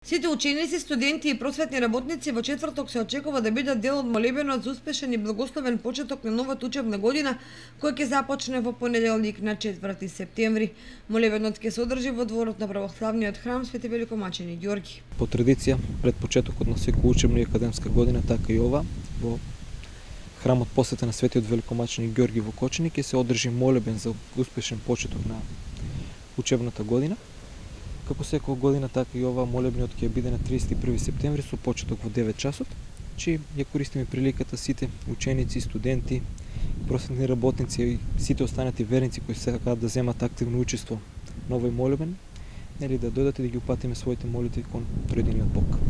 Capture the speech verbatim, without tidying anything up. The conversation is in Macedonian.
Сите ученици, студенти и просветни работници во четврток се очекува да бидат дел од молебенот за успешен и благословен почеток на новата учебна година, кој ќе започне во понеделник на четврти септември. Молебенот ќе се одржи во дворот на православниот храм Свети Великомачени Ѓорги. По традиција, пред почетокот на секоја учебна и академска година, така и ова, во храмот посветен на Светиот Великомачени Ѓорги во Кочани ќе се одржи молебен за успешен почеток на учебната година. Како секоја година, така и ова молебниот ќе биде на триесет и први септември со почеток во девет часот, че ја користиме приликата сите ученици, студенти, просветни работници и сите останати верници кои сакаат да земат активно учество на овој молебен, нели да дојдат и да ги упатиме своите молитви кон Троединиот Бог.